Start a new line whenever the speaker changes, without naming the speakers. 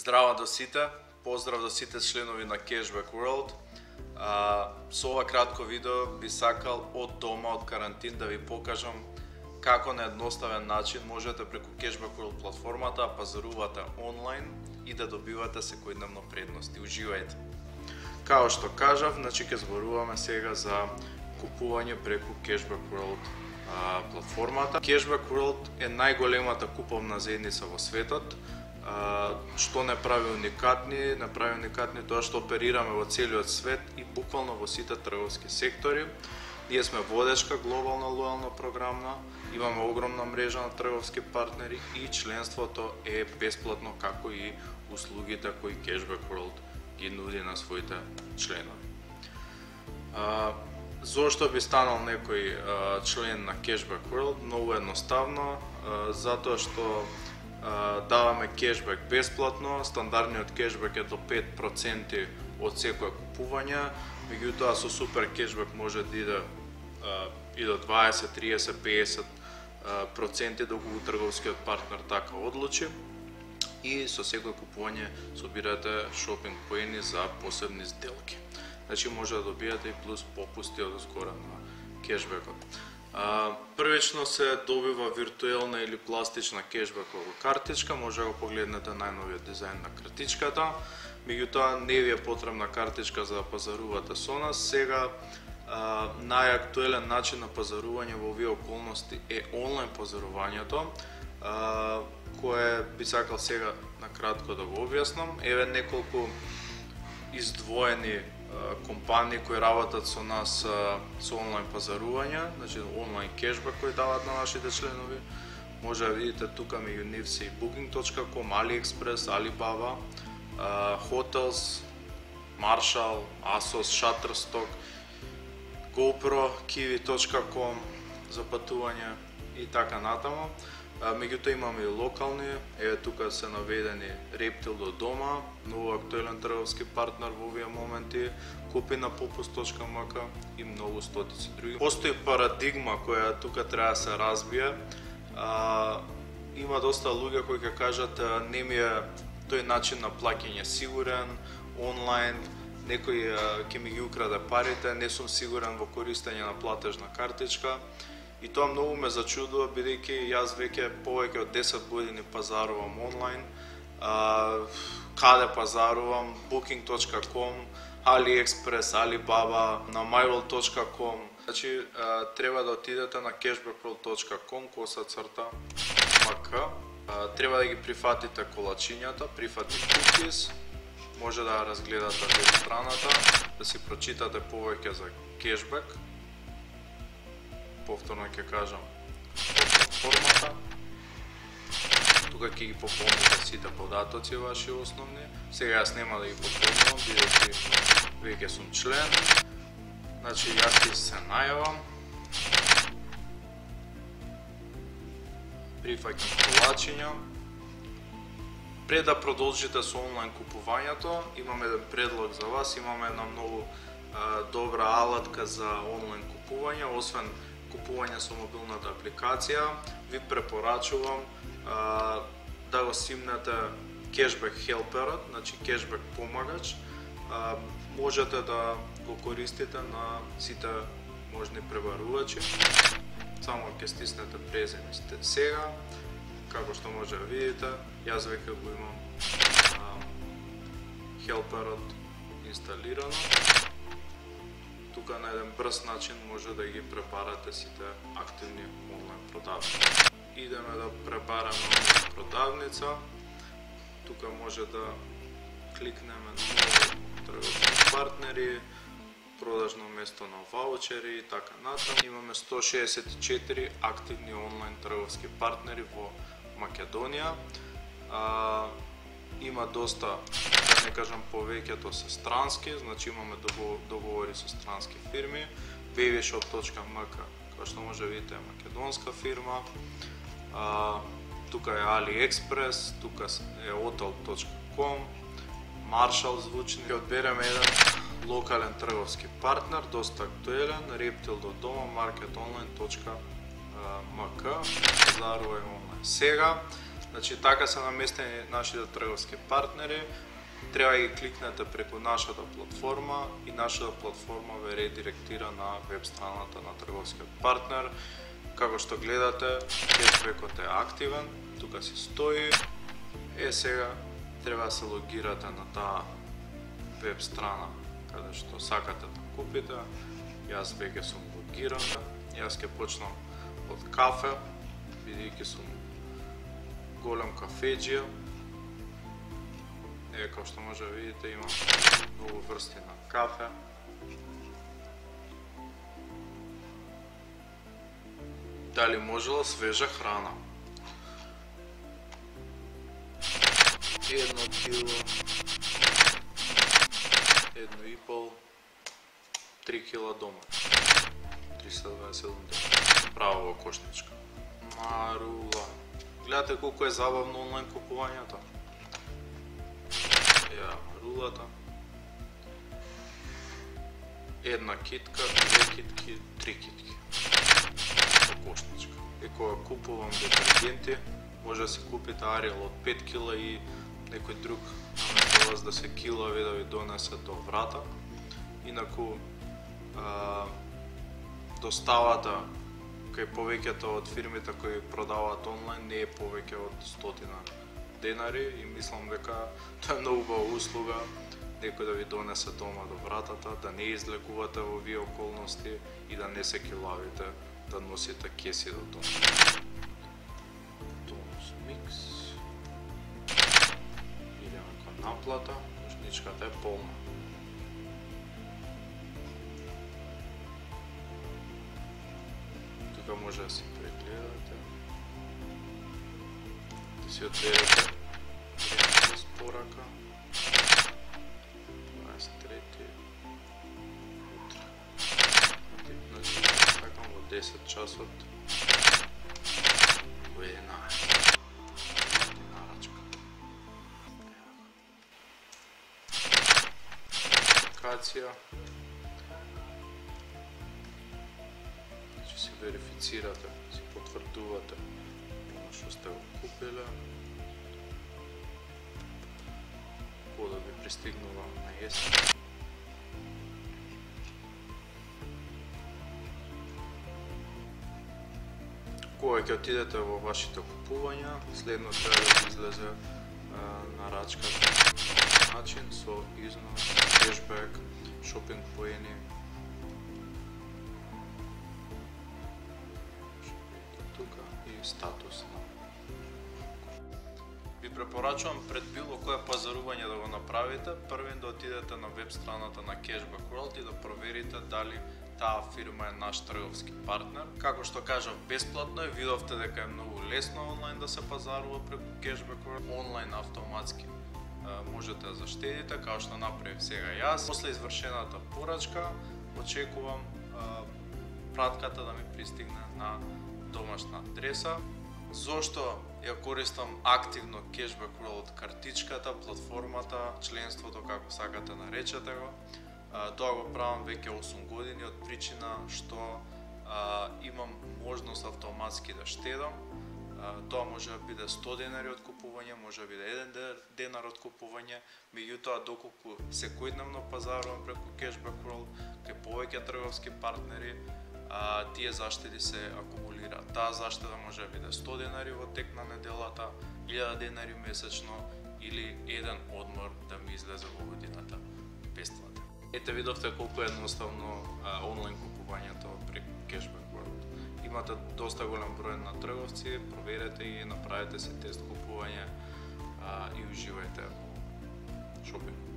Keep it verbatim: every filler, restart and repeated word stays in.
Здраво до сите, поздрав до сите членови на Cashback World. А, со ова кратко видео би сакал од дома, од карантин да ви покажам како на едноставен начин можете преку Cashback World платформата да пазарувате онлайн и да добивате секојдневно предности. Уживајте! Као што кажав, значи ќе зборуваме сега за купување преку Cashback World а, платформата. Cashback World е најголемата куповна заедница во светот. Uh, што не прави уникатни, не прави уникатни тоа што оперираме во целиот свет и буквално во сите трговски сектори. Ние сме водечка глобална лојална програмна, имаме огромна мрежа на трговски партнери и членството е бесплатно, како и услугите кои Cashback World ги нуди на своите членови. Uh, Зошто би станал некој uh, член на Cashback World? Многу едноставно, uh, затоа што даваме кешбек бесплатно, стандардниот кешбек е до пет проценти од секое купување, меѓутоа со супер кешбек може да иде и до дваесет, триесет, пеесет проценти доколку трговскиот партнер така одлучи, и со секое купување собирате шопинг поени за посебни сделки. Значи може да добиете и плюс попусти од згора на кешбекот. Uh, првично се добива виртуелна или пластична кешбекова картичка, може да го погледнете најновиот дизајн на картичката. Меѓутоа не ви е потребна картичка за да пазарувате со нас. Сега uh, најактуелен начин на пазарување во овие околности е онлайн пазарувањето, uh, кое би сакал сега накратко да го објаснам. Еве неколку издвоени компании кои работат со нас со онлайн пазарување, значи онлайн кешбек кој дават на нашите членови. Може да видите тука меѓу нив се и booking точка com, AliExpress, Alibaba, Hotels, Marshall, Asos, Shutterstock, GoPro, kiwi точка com за патување и така натаму. Меѓутоа имаме и локални, еве тука се наведени Reptil до дома, многу актуелен трговски партнер во овие моменти, купи на popus точка m k и многу стотици други. Постои парадигма која тука треба да се разбие. А, има доста луѓе кои ќе кажат не ми е тој начин на плаќање сигурен, онлайн, некој ќе ми ги украде парите, не сум сигурен во користење на платежна картичка. И тоа многу ме зачудува, бидејќи јас веќе повеќе од десет години пазарувам онлайн. А, каде пазарувам? booking точка com, AliExpress, Alibaba, на myworld точка com. Значи, а, треба да отидете на cashbackworld точка com, коса црта м к. А, треба да ги прифатите колачињата, прифати cookies. Може да разгледате веб страната, да си прочитате повеќе за кешбек. Повторно ќе кажам платформата. Тука ќе ги пополните сите податоци ваши основни. Сега јас нема да ги пополнувам, бидејќи веќе сум член. Значи јас ќе се најавам. Прифаќам колачиња. Пред да продолжите со онлайн купувањето, имам еден предлог за вас. Имаме една многу а, добра алатка за онлайн купување, освен купување со мобилната апликација, ви препорачувам а, да го симнете Cashback Helperот, значи Cashback помагач. А, можете да го користите на сите можни преварувачи. Само ќе стиснете презем сега, како што може да видите, јас веќе го имам а, Helperот инсталирано. Тука на еден брз начин може да ги пребарате сите активни онлайн продавници. Идеме да пребараме онлайн продавница. Тука може да кликнеме на трговски партнери, продажно место на ваучери и така натаму. Имаме сто шеесет и четири активни онлайн трговски партнери во Македонија. А, има доста, да не кажам повеќето се странски, значи имаме договори со странски фирми. babyshop точка m k, која што може да видите е македонска фирма. А, тука е AliExpress, тука е hotel точка com, Marshall звучни. Ќе одбереме еден локален трговски партнер, доста актуелен, Reptil до дома, market online точка m k. Пазарувај онлайн сега. Значи, така се наместени нашите трговски партнери, треба да ги кликнете преку нашата платформа и нашата платформа ве редиректира на веб страната на трговскиот партнер. Како што гледате, кешбекот е активен, тука си стои. Е, сега треба да се логирате на таа веб страна каде што сакате да купите. Јас веќе сум логиран. Јас ќе почнам од кафе, бидејќи сум голем кафеџија. Е, како што може да видите, има многу врсти на кафе. Дали можела свежа храна? Едно кило, едно и пол, три кила дома. триста дваесет и седум дена. Право во кошничка. Марула. Гледате колку е забавно онлайн купувањето. Ја, рулата. Една китка, две китки, три китки. Во кошничка. И кога купувам детергенти, може да се купите Ариел од пет кила и некој друг наместо вас да се килави да ви донесе до врата. Инаку а, доставата кај повеќето од фирмите кои продаваат онлайн не е повеќе од стотина денари и мислам дека тоа е многу убава услуга, некој да ви донесе дома до вратата, да не излекувате во овие околности и да не се килавите да носите кеси до дома. Тонус микс. Идеме кон наплата, кошничката е полна. Тука може да си прегледате, да си одберете време за спорака. дваесет и трети утре. Значи, чакам во десет часот. Во еднаесет. Динарачка. Апликација. Значи, си верифицирате, си потврдувате оно што сте го купиле. Кодот ви пристигнува на есен. Кога ќе отидете во вашите купувања, следно треба да излезе а, нарачката начин со износ, кешбек, шопинг поени. Тука и статус на. Ви препорачувам пред било кое пазарување да го направите, првен да отидете на веб страната на Cashback World и да проверите дали таа фирма е наш трговски партнер. Како што кажав, бесплатно е, видовте дека е многу лесно онлайн да се пазарува преку Cashback World. Онлайн автоматски можете да заштедите, како што направив сега јас. После извршената порачка, очекувам а, пратката да ми пристигне на домашна адреса. Зошто ја користам активно Cashback World картичката, платформата, членството, како сакате наречете го. Тоа го правам веќе осум години од причина што а, имам можност автоматски да штедам. А, тоа може да биде сто денари од купување, може да биде еден денар од купување, меѓутоа доколку секојдневно пазарувам преку Cashback World кај повеќе трговски партнери, а, тие заштеди се акумулираат. Таа заштеда може да биде сто денари во тек на неделата, илјада денари месечно или еден одмор да ми излезе во годината бесплатен. Ете, видовте колку е едноставно а, онлайн купувањето преку Cashback World. Имате доста голем број на трговци, проверете ги, направете се тест купување а, и уживајте во шопинг.